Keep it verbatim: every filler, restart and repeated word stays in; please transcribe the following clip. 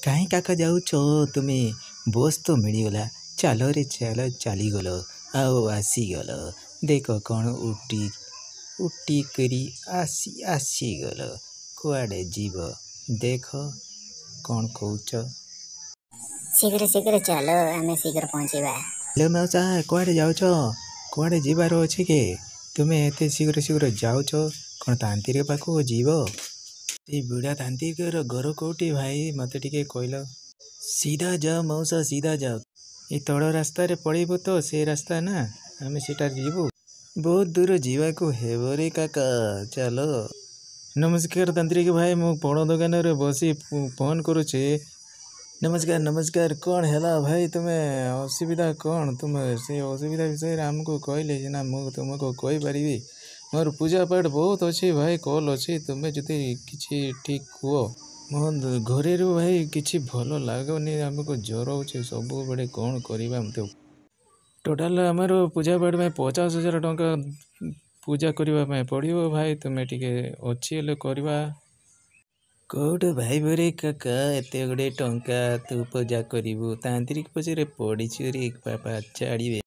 କାହିଁ କାକା ଯାଉଛ ତୁମେ? ବସ୍ ତ ମିଳିଗଲା, ଚାଲରେ ଚାଲ। ଚାଲିଗଲ ଆଉ ଆସିଗଲ। ଦେଖ କ'ଣ ଉଟି ଉଟି କରି ଆସି ଆସିଗଲ। କୁଆଡ଼େ ଯିବ ଦେଖ, କ'ଣ କହୁଛ? ଶୀଘ୍ର ଶୀଘ୍ର ଚାଲ, ଆମେ ଶୀଘ୍ର ପହଞ୍ଚିବା। ହ୍ୟାଲୋ ମଉସା, କୁଆଡ଼େ ଯାଉଛ? କୁଆଡ଼େ ଯିବାର ଅଛି କି? ତୁମେ ଏତେ ଶୀଘ୍ର ଶୀଘ୍ର ଯାଉଛ, କ'ଣ ତାନ୍ତ୍ରିକ ପାଖକୁ ଯିବ? ସେଇ ବୁଢ଼ା ତାନ୍ତ୍ରିକର ଘର କୋଉଠି ଭାଇ, ମୋତେ ଟିକେ କହିଲ। ସିଧା ଯାଅ ମଉସା, ସିଧା ଯାଅ। ଏ ତଳ ରାସ୍ତାରେ ପଳେଇବୁ ତ, ସେ ରାସ୍ତା ନା ଆମେ ସେଟାରେ ଯିବୁ। ବହୁତ ଦୂର ଯିବାକୁ ହେବ ରେ କାକା, ଚାଲ। ନମସ୍କାର ତାନ୍ତ୍ରିକ ଭାଇ, ମୁଁ ଫଳ ଦୋକାନରେ ବସି ଫୋନ୍ କରୁଛି। ନମସ୍କାର ନମସ୍କାର। କ'ଣ ହେଲା ଭାଇ, ତୁମେ ଅସୁବିଧା କ'ଣ? ତୁମେ ସେ ଅସୁବିଧା ବିଷୟରେ ଆମକୁ କହିଲେ ସିନା ମୁଁ ତୁମକୁ କହିପାରିବି। ମୋର ପୂଜା ପାଠ ବହୁତ ଅଛି ଭାଇ, କଲ୍ ଅଛି। ତୁମେ ଯଦି କିଛି ଠିକ୍ କୁହ। ମୋ ଘରେରୁ ଭାଇ କିଛି ଭଲ ଲାଗୁନି, ଆମକୁ ଜ୍ୱର ହେଉଛି ସବୁବେଳେ, କ'ଣ କରିବା? ମୋତେ ଟୋଟାଲ ଆମର ପୂଜା ପାଠ ପାଇଁ ପଚାଶ ହଜାର ଟଙ୍କା ପୂଜା କରିବା ପାଇଁ ପଡ଼ିବ ଭାଇ। ତୁମେ ଟିକେ ଅଛି ହେଲେ କରିବା। କୋଉଠୁ ଭାଇବରେ କାକା ଏତେ ଗୁଡ଼ିଏ ଟଙ୍କା ତୁ ପୂଜା କରିବୁ? ତାନ୍ତ୍ରିକ ପଛରେ ପଡ଼ିଛୁ ରେ ବାପା, ଛାଡ଼ିବେ।